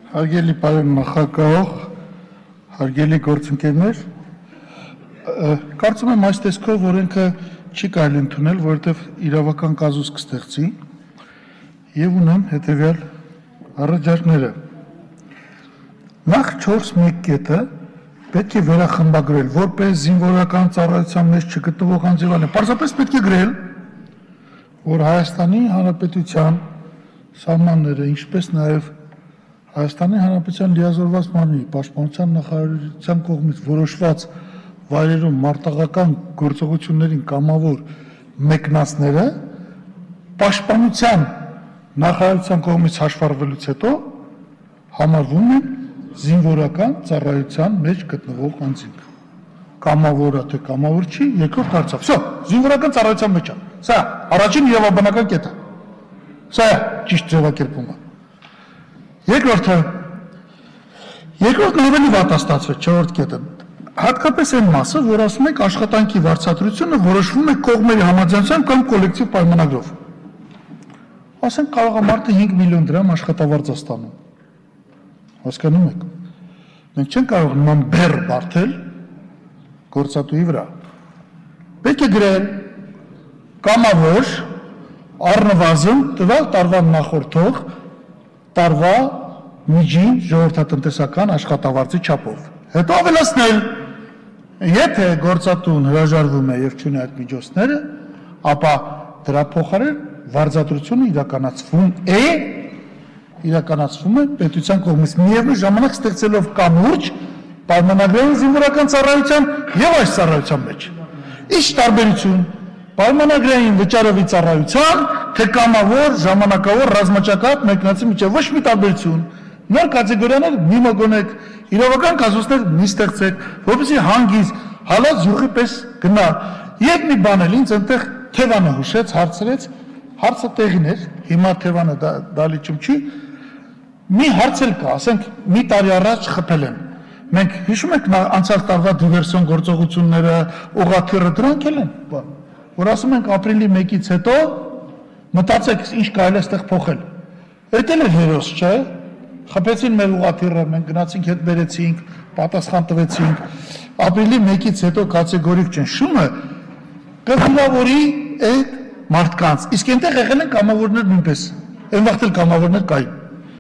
Հարգելի պարոն նախագահող, հարգելի գործընկերներ, կարծում եմ այս տեսքով օրենքը չի կարելի ընդունել, որովհետև իրավական կազուս կստեղծի եւ ունեմ հետեւյալ առաջարկները։ Նախ 4.1 կետը պետք է վերախմբագրել, որպես զինվորական ծառայության մեջ չգտնվող անձինք, պարզապես պետք է գրել, որ Հայաստանի Հանրապետության սահմանները, ինչպես նաեւ Հայաստանի Հանրապետության լիազորված մարմնի պաշտպանության նախարարության կողմից որոշված վայրերում մարտաղական գործողություններին կամավոր մեկնածները պաշտպանության նախարարության կողմից հաշվառվելուց հետո համարվում են զինվորական ծառայության մեջ գտնվող անձինք։ Կամավոր է թե կամավոր չի, երկրորդ հարցը։ Всё, զինվորական ծառայության մեջ է։ Սա առաջին իրավաբանական կետը։ Սա ճիշտ ձևակերպումը։ Երկրորդն ավելի վատ է ստացվել, չորրորդ կետը։ Հատկապես այն մասը, որ ասում եք աշխատանքի վարձատրությունը որոշվում է կողմերի համաձայնությամբ կամ կոլեկտիվ պայմանագրով։ Ասենք կարող է մարդը 5 միլիոն դրամ աշխատավարձ ստանում։ Հասկանում եք։ Մենք չենք կարող նման բեռ բարթել գործատուի վրա։ Պետք է գրել կամավոր առնվազն տվյալ տարվա նախորդող տարվա միջին ժողովրդատնտեսական աշխատավարձի չափով։ Հետո ավելացնել, եթե գործատուն հրաժարվում է եւ չունի այդ միջոցները, ապա դրա փոխարեն վարձատրությունը իրականացվում է պետության կողմից միևնույն ժամանակ ստեղծելով կամուրջ պայմանագրային զինվորական ծառայության եւ այս ծառայության մեջ։ Ինչ տարբերություն պայմանագրային վճարովի ծառայության թե կամավոր ժամանակավոր ռազմաճակատ մեկնածի միջև ոչ մի տարբերություն։ Նոր կատեգորիաներ մի մոգոնեք, իրավական կազուսներ մի ստեղծեք, որպեսզի հանգիստ հալած յուղի պես գնա։ Եվ մի բան էլ ինձ այնտեղ Թևանը հուշեց, հարցրեց, հարցը տեղին էր, հիմա Թևանը դալիճում չի։ Մի հարց էլ կա, ասենք մի տարի առաջ խփել են։ Մենք հիշում ենք անցյալ տարվա դիվերսիոն գործողությունները, օղաթիռը դրանք էլ են, որ ասում ենք ապրիլի 1-ից հետո մտածեք ինչ կարելի է այստեղ փոխել։ Էդ էլ է հերոս, չէ՞։ Խփեցին մեր ուղղաթիռը, մենք գնացինք հետ բերեցինք, պատասխան տվեցինք։ Ապրիլի 1-ից հետո կատեգորիկ ճնշումը կվիրավորի այդ մարդկանց։ Իսկ այնտեղ եղել են կամավորներ նույնպես։ Այն վաղ էլ կամավորներ կային։